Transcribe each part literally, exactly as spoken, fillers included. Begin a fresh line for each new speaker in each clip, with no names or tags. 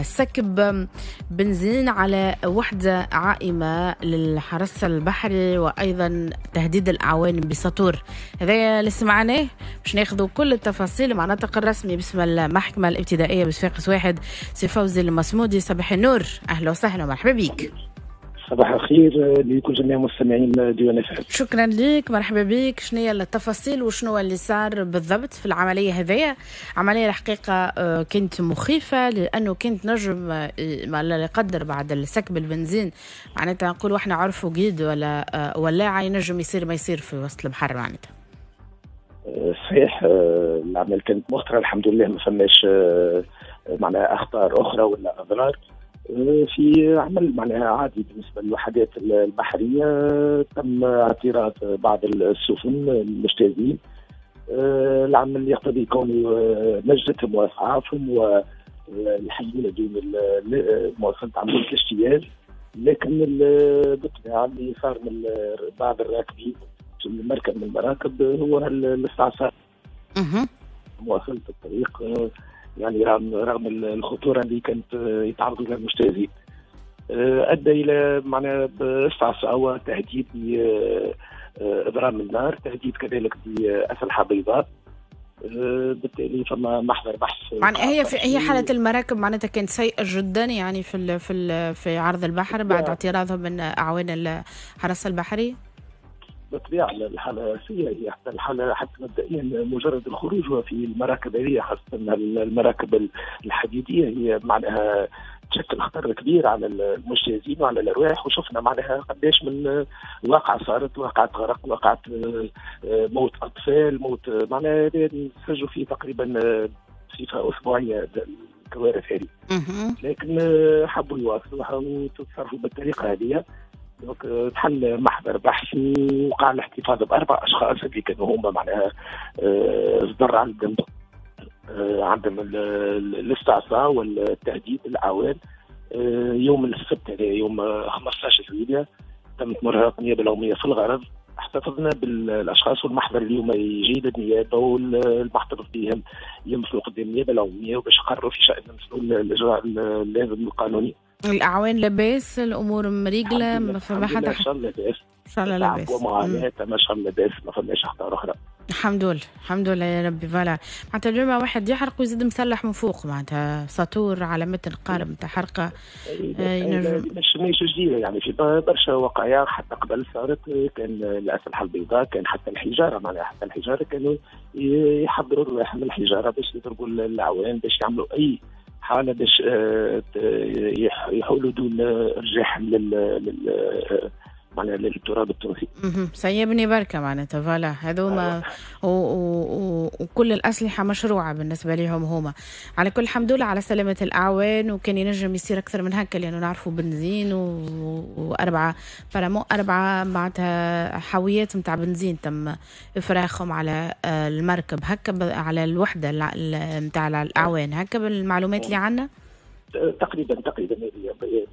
سكب بنزين على وحدة عائمة للحرس البحري وأيضا تهديد الأعوان بسطور. هذا اللي سمعناه باش ناخذوا كل التفاصيل مع الناطق الرسمي باسم المحكمة الابتدائية بصفاقس واحد سي فوزي المصمودي. صباح النور، أهلا وسهلا ومرحبا بك.
صباح الخير لكل جميع مستمعين ديوان اف.
شكرا لك، مرحبا بك. شنو هي التفاصيل وشنو اللي صار بالضبط في العملية هذيا؟ عملية الحقيقة كانت مخيفة لانه كانت نجم ما لا يقدر بعد السكب البنزين، معناتها نقولوا احنا عرفوا قيد ولا ولاعه ينجم يصير ما يصير في وسط البحر معناتها.
صحيح العملية كانت مخطره، الحمد لله ما فماش معناها اخطار اخرى ولا اضرار. في عمل معناها عادي بالنسبة للوحدات البحرية، تم اعتراض بعض السفن المجتازين. العمل يقتضي كون نجدتهم واسعافهم والحيونه دون مواصلة عملية الاجتياز، لكن بالطبيعة اللي صار من بعض الراكبين في المركب من المراكب هو الاستعصاء مواصلة الطريق، يعني رغم رغم الخطورة اللي كانت يتعرضوا لها المجتازين، ادى الى معناها استعصاء وتهديد باضرام النار، تهديد كذلك باسلحه بيضاء. بالتالي فما محضر بحث.
معناها هي في هي حاله المراكب معناتها كانت سيئه جدا يعني في ال في ال في عرض البحر بعد اعتراضهم من اعوان الحرس البحري.
بالطبيعة الحالة سيئه، هي حتى الحالة حتى مبدئيا مجرد الخروج في المراكب هذه خاصة المراكب الحديدية هي معناها تشكل خطر كبير على المجتازين وعلى الارواح، وشفنا معناها قداش من واقعه صارت، واقعه غرق، واقعه موت اطفال، موت معناها نسجلوا فيه تقريبا بصفة اسبوعية الكوارث هذه. لكن حبوا يواصلوا وتصرفوا بالطريقة هذه. donc تحل محضر بحث وقع الاحتفاظ باربع اشخاص اللي كانوا هما معناها صدر عندهم عندهم الاستعصاء والتهديد الاعوان. يوم السبت هذا يوم خمسة عشر جويلية تمت مرافقة النيابة العمومية في الغرض، احتفظنا بالاشخاص والمحضر اليوم يجي للنيابه والمحتفظ بهم يمثلوا قدام النيابة العمومية وباش يقرروا في شان الاجراء اللازم القانوني.
الاعوان لاباس، الامور مريقله، ما فما حتى
ان شاء الله لاباس،
ان شاء الله لاباس
ومعاناة، ما شاء الله لاباس، ما فماش اخطار اخرى.
الحمد لله الحمد لله يا ربي. voilà معناتها اليوم واحد يحرق ويزيد مسلح من فوق، معناتها ساطور على متن قارب نتاع حرقه.
مش مش جديدة يعني، في برشا وقايع حتى قبل صارت، كان الاسلحة البيضاء، كان حتى الحجارة، معناها حتى الحجارة كانوا يحضروا رواحهم الحجارة باش يضربوا الاعوان، باش يعملوا اي حاله باش يحولوا دون ارجاعهم لل لل معناها للتراب التونسي.
سيبني بركة معناتها voilà هذوما وكل الاسلحة مشروعه بالنسبة لهم هما. على كل الحمد لله على سلامه الاعوان، وكان ينجم يصير اكثر من هكا لانه نعرفوا بنزين واربعة فرامو اربعة معناتها حاويات نتاع بنزين تم افراخهم على المركب هكا على الوحدة نتاع الاعوان هكا بالمعلومات اللي عندنا.
تقريبا تقريبا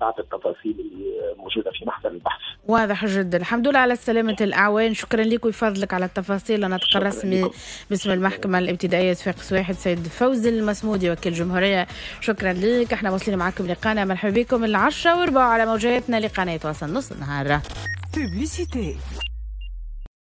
بعض التفاصيل اللي موجودة في محضر البحث.
واضح جدا، الحمد لله على سلامه الاعوان. شكرا لك ويفضلك على التفاصيل. الناطق الرسمي باسم المحكمة الابتدائية صفاقس واحد سيد فوزي المسمودي وكيل الجمهورية، شكرا لك. احنا واصلين معكم لقانا، مرحبا بكم العشرة وربع على موجاتنا لقناه واصل نص النهار. Publicité.